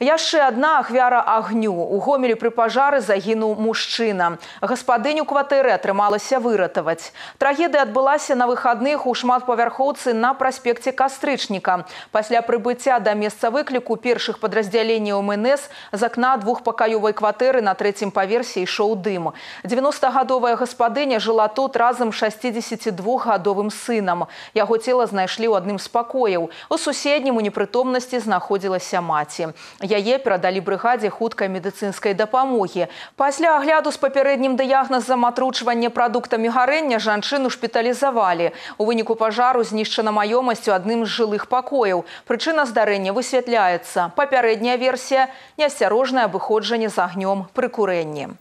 Яшчэ одна ахвяра агню. У Гомелі пры пажары загінуў мужчына. Гаспадыню кватэры атрымалася выратаваць. Трагедыя адбылася на выхадных у шматпавярхоўцы на праспекце Кастрычніка. Пасля прыбыцця да месца выкліку першых падраздзяленняў МНС з акна двухпакаёвай кватэры на 3-м паверсе ішоў дым. 90-гадовая гаспадыня жыла тут разам з 62-гадовым сынам. Яго цела знайшлі ў адным з пакояў. У суседнім у непрытомнасці знаходзілася маці. Яе перадалі брыгадзе хуткай медыцынскай дапамогі. Пасля агляду з папярэднім дыягназам атручвання прадуктамі гарэння жанчыну шпіталізавалі. У выніку пажару знішчана маёмасць у адным з жылых пакояў. Прычына здарэння высвятляецца. Папярэдняя версія – неасцярожнае абыходжанне з агнём пры курэнні.